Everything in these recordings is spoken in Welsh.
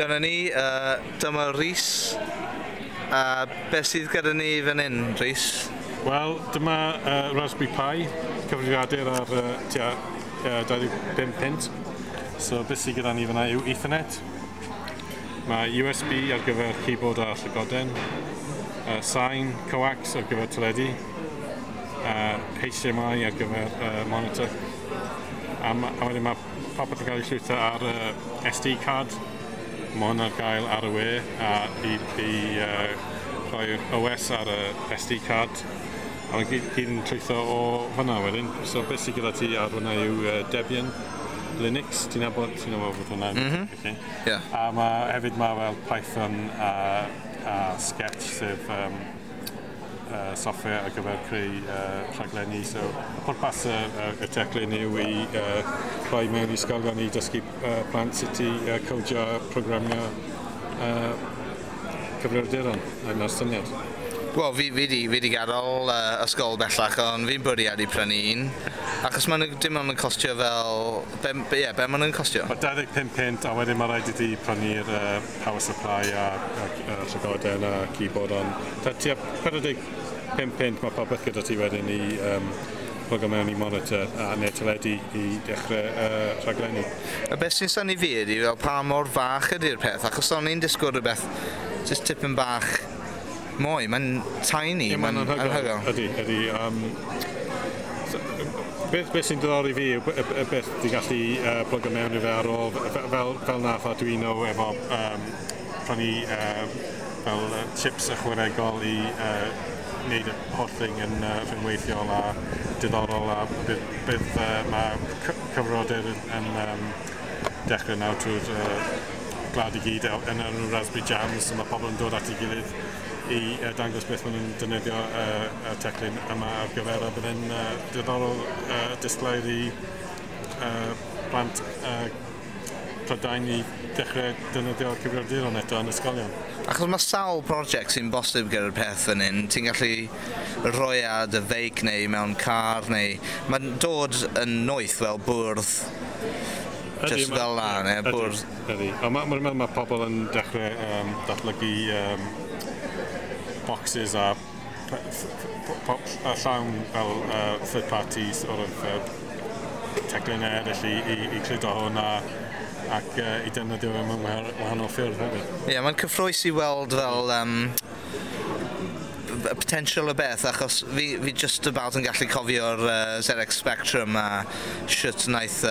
Dyna ni, dyma Rhys. A beth sydd gyda ni fan hyn, Rhys? Wel, dyma Raspberry Pi, cyfrifiadur ar tua 25 punt. So beth sydd gyda ni fan'na yw Ethernet. Mae USB ar gyfer keyboard a llygoden. Sain, coax ar gyfer teledu. HDMI ar gyfer monitor. A wedyn mae popeth yn cael ei llwytho ar SD card. Mae hwn ar gael ar y we a i rhoi'r OS ar y SD card. A mae'n gyd yn llwytho o hwnna wedyn. So beth sydd gyda ti ar hwnna yw Debian Linux. Ti'n nabod bod hwnna? Mm -hmm. Okay. Yeah. A hefyd mae fel Python a Sketch, sef software ar gyfer creu rhaglenni. So pwrpas y teclyn yw i rhoi mewn i ysgolion i dysgu plant sut i codio, programio cyfrifiaduron. Dyna'r syniad. Wel, fi di gadael ysgol bellach, ond fi'n bwriadu prynu un. Achos maen nhw dim ond yn costio fel... Be, yeah, be maen nhw'n costio? Mae 25 punt a wedyn mae rhaid i ti prynu'r power supply a llygoden a keyboard, ond tua 45 punt mae popeth gyda ti wedyn i plug mewn i monitor a neu teledu i dechrau rhaglenni. A beth sy'n synnu fi ydy fel pa mor fach ydy'r peth, achos o'n i'n disgwyl rhywbeth just tipyn bach mwy. Mae'n tiny, Ie, mae'n anhygoel. Ydy. So, beth sy'n diddori fi yw y beth ti'n gallu plug mewn i fe ar ôl, fel nath Arduino efo prynu fel chips ychwanegol i wneud y holl thing yn rhyngweithiol a diddorol, a bydd mae cyfrifiadur yn dechrau nawr trwy'r gwlad i gyd yn y Raspberry Jams, so mae pobl yn dod at ei gilydd i dangos beth maen nhw'n defnyddio y teclyn yma ar gyfer, a bydd e'n diddorol disglair i plant Prydain i dechrau defnyddio cyfrifiaduron eto yn ysgolion. Achos mae sawl prosiect sy'n bosib gyda'r peth fan hyn. Ti'n gallu rhoi ar dy feic neu mewn car neu... Mae'n dod yn noeth fel bwrdd just fel la, neu bwrdd. Ydy. Ond mae'n meddwl mae pobl yn dechrau datblygu boxes a llawn fel third party sort of teclynnau eraill i cludo hwn ac i defnyddio fe mewn wahanol ffyrdd hefyd. Ie, yeah, mae'n cyffrous i weld fel y potential y beth, achos fi just about yn gallu cofio'r ZX Spectrum a shwt wnaeth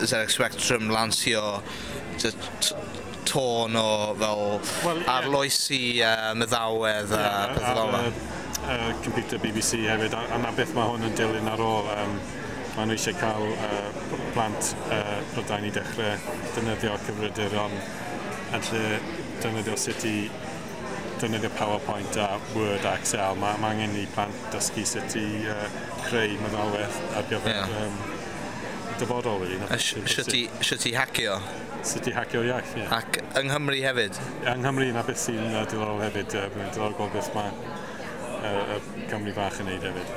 ZX Spectrum lansio just tôn o fel Wel, ie. arloesi meddalwedd a pethau fel yna. Computer BBC hefyd, a 'na beth mae hwn yn dilyn ar ôl. Maen nhw eisiau cael plant Prydain i dechrau defnyddio cyfrifiaduron yn lle defnyddio sut i defnyddio PowerPoint a Word a Excel. Mae angen i plant dysgu sut i creu meddalwedd ar gyfer dyfodol, really. A shwt i hacio. Sut i hacio'r iaith, ie. Ac yng Nghymru hefyd. Yng Nghymru, na beth sy'n diddorol hefyd. Mae'n diddorol gweld beth mae y Cymru fach yn neud hefyd.